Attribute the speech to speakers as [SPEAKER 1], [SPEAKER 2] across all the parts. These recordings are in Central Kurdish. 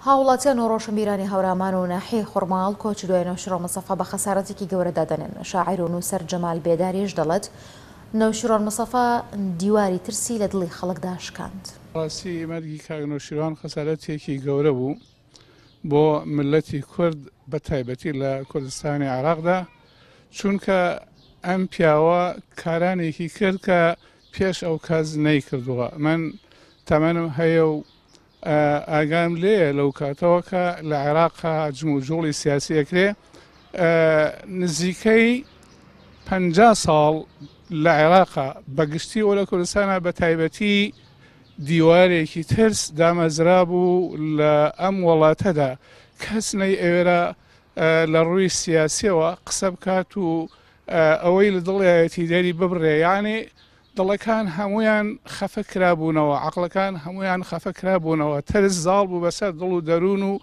[SPEAKER 1] هاوڵاتیان و ڕۆشنبیرانی هەورامان و ناحیەی خورماڵ کۆچی دوای نەوشیروان مستەفا بە خەسارەتێکی گەورە دادەنێن. شاعیر و نووسەر جەمال بێداریش دەڵێت، نەوشیروان مستەفا دیواری ترسی لە دڵی خەڵکدا شکاند.
[SPEAKER 2] ڕاستی مەرگی کاک نەوشیروان خەسارەتێکی گەورە بوو بۆ میللەتی کورد بە تایبەتی لە کوردستانی عێراقدا، چونکە ئەم پیاوە کارانێکی کرد کە پێش ئەو کەس نەیکردووە. من تەمەنم هەیە و ئاگام لێیە لەو کاتەوە کە لە عێراق جموجوڵی سیاسی ئەکرێ نزیکەی 50 ساڵ لە عێراق بەگشتی و لە کوردستانە بە تایبەتی دیوارێکی ترس دامەزرا بوو لە ئەم وڵاتەدا کەس نەی ئەوێرا لە ڕووی سیاسیەوە قسە بکات و ئەوەی لە دڵیایەتی دەری ببڕێ یعنی دڵەکان هەموویان خەفە کرابوونەوە، عەقڵەکان هەموویان خەفە کرابوونەوە، ترس زاڵ بوو بەسەر دڵ و دەروون و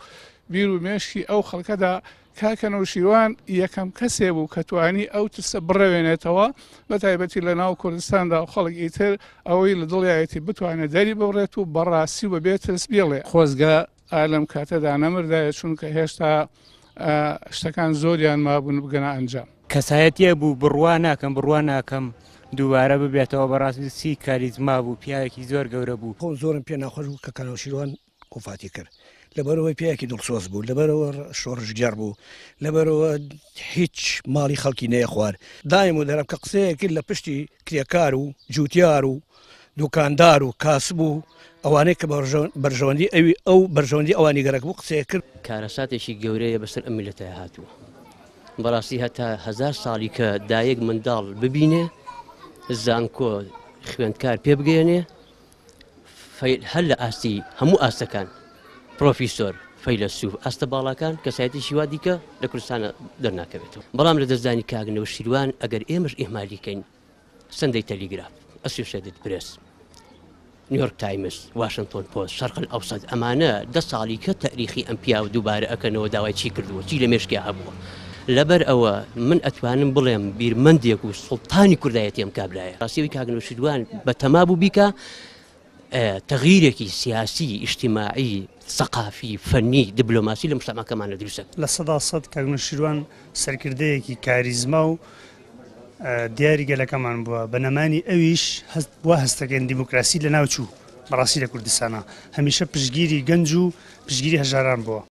[SPEAKER 2] بیر و مێشکی ئەو خەڵکەدا، کاکە نەوشیروان یەکەم کەسێ بوو کە توانی ئەو ترسە بڕەوێنێتەوە، بە تایبەتی لە ناو کوردستاندا و خەڵک ئیتر ئەوەی لە دڵیایەتی بتوانێت دەری ببڕێت و بە ڕاستی و بە بێ ترس بیڵێ. خۆزگە ئا لەم کاتەدا نەمردایە، چونکە هێشتا شتەکان زۆریان مابوون بگەنە ئەنجام.
[SPEAKER 3] کەسایەتیە بوو بڕوا ناکەم بڕوا ناکەم دووبارە ببێتەوە بەڕاستی چی کاریزما بوو پیاوێکی زۆر گەورە بوو.
[SPEAKER 4] خۆم زۆرم پێ ناخۆش بوو کە کانەوشیروان وەفاتی کرد لەبەرئەوەی پیاوێکی دڵسۆز بوو لەبەرئەوە شۆڕشگێڕ بوو لەبەرئەوە هیچ ماڵی خەڵکی نەیەخوارد دایم و دەرم کە قسەیەک کرد لە پشتی کرێکار و جوتیار و دوکاندار و کاسب و ئەوانەی کە بەرژەوەندی ئەوی ئەو بەرژەوەندی ئەوانی گەرەک بوو قسەیە کرد.
[SPEAKER 5] کارەساتێکی گەورەیە بەسەر ئەم میللەتە هاتووە بەڕاستی هەتا هەزار ساڵی کە دایک منداڵ ببینێ زانکۆ خوێندکار پێ بگەێنێ هەر لە ئاستی هەموو ئاستەکان پرۆفیسۆر فەیلەسوف ئاستە باڵاکان کەسایەتی شیوا دیکە لە کوردستانە دەرناکەوێتەوە بەڵام لە دەستدانی کاک نەوشیروان ئەگەر ئێمەش ئیهمالیکەین سەندەی تەلیگراف، ئەسۆشێتد پرێس، نیویۆرک تایمز، واشنتۆن پۆست، شەرق ئەوسەت ئەمانە دە ساڵی کە تەریخی ئەم پیاوە دووبارە ئەکەنەوە داوای چی کردووە چی لە مێشکیا هەبووە لەبەر ئەوە من ئەتوانم بڵێم بیرمەندێک و سوڵتانی کوردایەتی ئەم کابرایە ڕاستیەوەی کاک نەوشیروان بەتەما بوو بیکا تەغیرێکی سیاسی ئیجتیماعی سەقافی فەنی دیبلۆماسی لە مجتەمعەکەمانە دروست ئەکا.
[SPEAKER 6] 100% کاک نەوشیروان سەرکردەیەکی کاریزما و دیاری گەلەکەمان بووە، بە نەمانی ئەویش هەست وا هەستەکەین دیموکراسی لەناوچوو، بەڕاستی لە کوردستانا هەمیشە پشتگیری گەنج و پشتگیری هەژاران بووە.